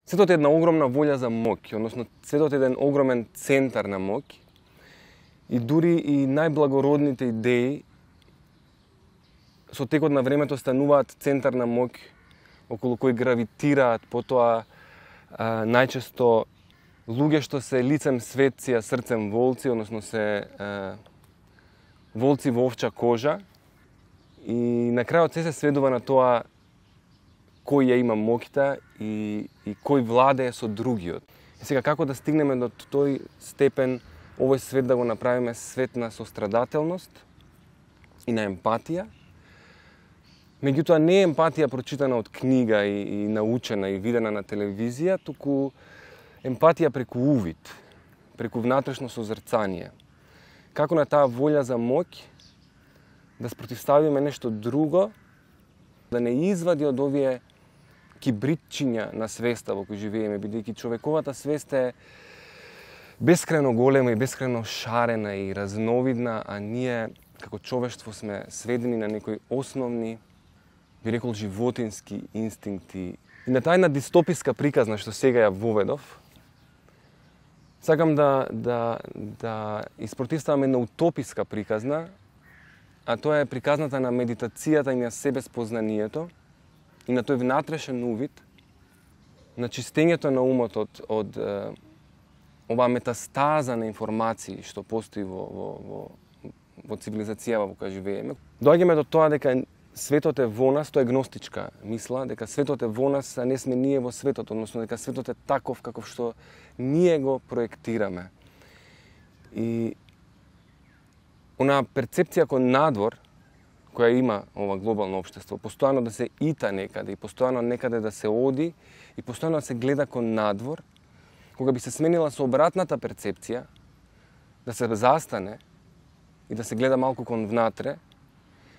Светот е една огромна волја за моќ, односно светот е еден огромен центар на моќ и дури и најблагородните идеи со текот на времето стануваат центар на моќ околу кој гравитираат потоа најчесто луѓе што се лицем светци, а срцем волци, односно се волци во овча кожа, и на крајот се сведува на тоа кој ја има моќта и кој владее со другиот. И сега како да стигнеме до тој степен овој свет да го направиме свет на сострадателност и на емпатија? Меѓутоа не е емпатија прочитана од книга и научена и видена на телевизија, туку емпатија преку увид, преку внатрешно созрцание. Како на таа волја за моќ да спротивставиме нешто друго, да не извади од овие кибритчиња на свеста во кој живееме, бидејќи човековата свест е бескрајно голема и бескрајно шарена и разновидна, а ние како човештво сме сведени на некои основни, би рекол, животински инстинкти. И на таа една дистописка приказна што сега ја воведов, сакам да испротивставам една утописка приказна, а тоа е приказната на медитацијата и на себеспознанието и на тој внатрешен увид, на чистењето на умот од оваа метастаза на информации што постои во цивилизацијава во која живееме. Доаѓаме до тоа дека светот е во нас, тоа е гностичка мисла, дека светот е во нас, а не сме ние во светот, односно дека светот е таков каков што ние го проектираме. И онаа перцепција кон надвор, која има ова глобално општество, постојано да се ита некаде и постојано некаде да се оди и постојано да се гледа кон надвор, кога би се сменила со обратната перцепција, да се застане и да се гледа малку кон внатре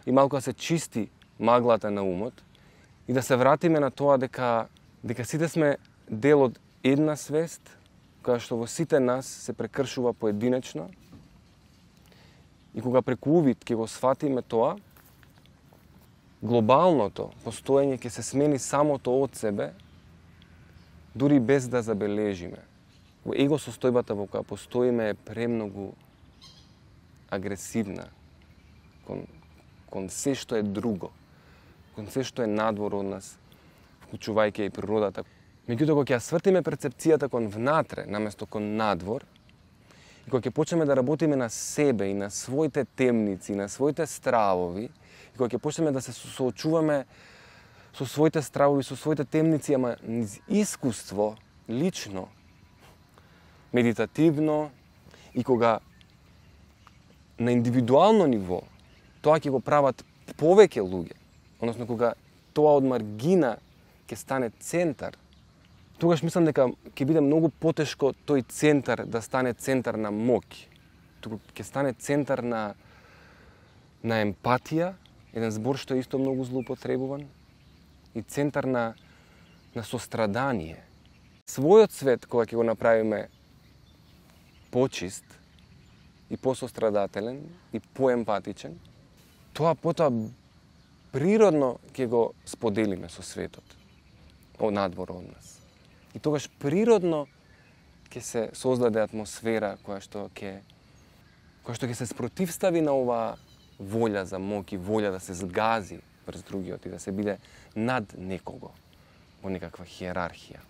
и малку да се чисти маглата на умот и да се вратиме на тоа дека сите сме дел од една свест, која што во сите нас се прекршува поединечно, и кога преку увид ќе го сфатиме тоа, глобалното постоење ќе се смени самото од себе, дури без да забележиме. Во его состојбата во која постоиме е премногу агресивна кон се што е друго, кон се што е надвор од нас, вклучувајќи и природата. Меѓутоа, кога ќе ја свртиме перцепцијата кон внатре, наместо кон надвор, и кога ќе почнеме да работиме на себе и на своите темници, на своите стравови, и кога ќе почнеме да се соочуваме со своите стравови, со своите темници, ама низ искуство, лично, медитативно, и кога на индивидуално ниво тоа ќе го прават повеќе луѓе, односно кога тоа од маргина ќе стане центар, тогаш мислам дека ќе биде многу потешко тој центар да стане центар на моќ, туку ќе стане центар на емпатија, еден збор што е исто многу злоупотребуван, и центар на сострадание. Својот свет, кога ќе го направиме почист и посострадателен и поемпатичен, тоа потоа природно ќе го споделиме со светот, од надвор од нас. И тогаш природно ќе се создаде атмосфера која што ќе се спротивстави на оваа волја за моќ и волја да се згази врз другиот и да се биде над некого во некаква хиерархија.